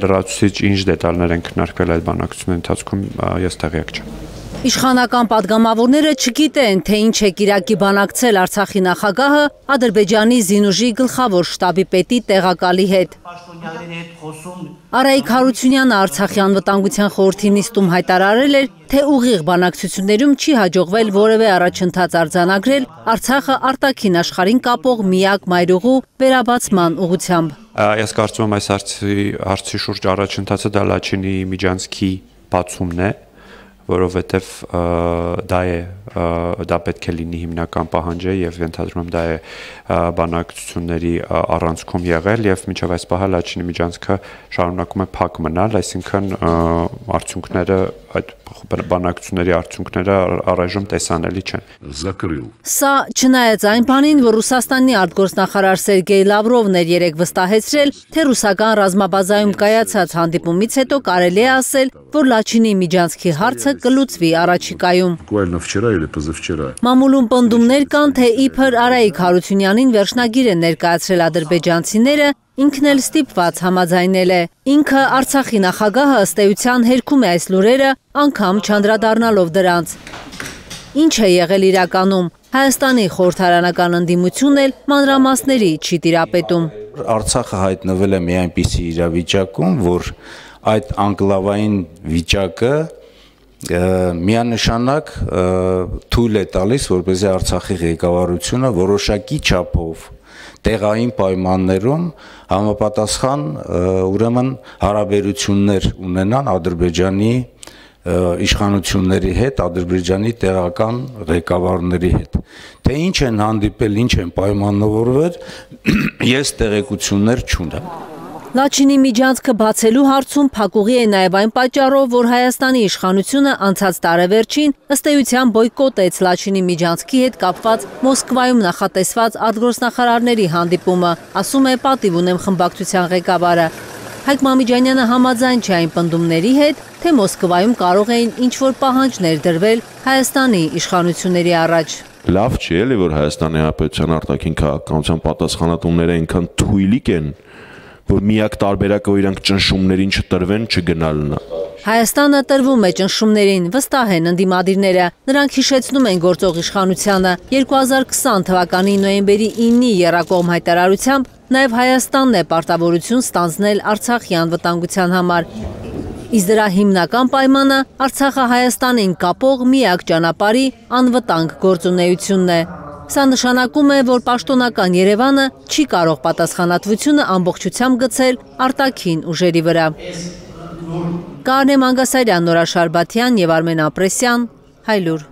Լրացուցիչ ինչ դետալներ են քննարկվել այդ բանակցությունների ընթացքում, ես տեղյակ չեմ։ Իշխանական падգամավորները չգիտեն, թե ինչ է կիրակի բանակցել Արցախի նախագահը Ադրբեջանի զինուժի գլխավոր շտաբի պետի տեղակալի հետ։ Արայիկ Հարությունյանը Արցախի անվտանգության խորհրդի նիստում հայտարարել էր, թե ուղիղ բանակցություններում չի հաջողվել որևէ առաջընթաց արձանագրել Արցախը արտաքին աշխարհին կապող միակ մայրուղու վերաբացման ուղղությամբ։ Ես կարծում եմ այս հարցի շուրջ առաջընթացը դա Լաչինի միջանցքի բացումն է, որովհետև դա պետք է լինի հիմնական պահանջը եւ ենթադրում եմ դա է բանակցությունների առանցքում եղել եւ մինչեւ այս պահը Լաչինի միջանցքը շարունակում է փակ մնալ, այսինքն արդյունքները այդ բանակցությունների արդյունքները առայժմ տեսանելի չեն։ Սա չնայած այն բանին, որ Ռուսաստանի արտգործնախարար Սերգեյ Լավրովն էր երեկ վստահեցրել, թե ռուսական ռազմաբազայում կայացած հանդիպումից հետո կարելի է ասել, որ Լաչինի միջանցքի հարցը կլուծվի առաջիկայում։ Մամուլում պնդումներ կան, թե իբր Արայիկ Հարությունյանին վերջնագիր են ներկայացրել ադրբեջանցիները, ինքն էլ ստիպված համաձայնել է։ Ինքը Արցախի նախագահը ըստ էության հերքում է այս լուրերը, անգամ չանդրադառնալով դրանց։ Ինչ է եղել իրականում։ Հայաստանի խորհրդարանական ընդդիմությունն էլ մանրամասների չի տիրապետում։ Արցախը հայտնվել է մի այնպիսի իրավիճակում, որ այդ անկլավային վիճակը միանշանակ թույլ է տալիս, որպեսզի Արցախի ղեկավարությունը որոշակի չափով տեղային պայմաններում համապատասխան ուրեմն հարաբերություններ ունենան Ադրբեջանի իշխանությունների հետ, Ադրբեջանի տեղական ղեկավարների հետ։ Թե ինչ են հանդիպել, ինչ են պայմանավորվել, ես տեղեկություններ չունեմ։ Լաչինի միջանցքը բացելու հարցում փակուղի է նաև այն պատճառով, որ Հայաստանի իշխանությունը անցած տարեվերջին ըստ էության բոյկոտեց Լաչինի միջանցքի հետ կապված Մոսկվայում նախատեսված արտգործնախարարների հանդիպումը, ասում է պատիվ ունեմ խմբակցության ղեկավարը։ Հայկ Մամիջանյանը համաձայն չէ այն պնդումների հետ, թե Մոսկվայում կարող էին ինչ-որ պահանջներ դրվել Հայաստանի իշխանությունների առաջ։ Լավ չի էլի, որ Հայաստանի Հանրապետության արտաքին քաղաքականության պատասխանատուները այնքան թույլիկ են, որ միակ տարբերակը, որ իրանք ճնշումներին չտրվեն, չգնալն է։ Հայաստանը տրվում է ճնշումներին, վստահ են ընդդիմադիրները։ Նրանք հիշեցնում են գործող իշխանությանը 2020 թվականի նոյեմբերի 9-ի եռակողմ հայտարարությամբ նաև Հայաստանն է պարտավորություն ստանձնել Արցախի անվտանգության համար։ Իսկ դրա հիմնական պայմանը Արցախը Հայաստանին կապող միակ ճանապարհի անվտանգ գործունեությունն է։ Սա նշանակում է, որ պաշտոնական Երևանը չի կարող պատասխանատվությունը ամբողջությամբ գցել արտաքին ուժերի վրա։ Կարնե Մանգասարյան, Նորա Շարբաթյան և Արմեն Ապրեսյան, Հայլուր։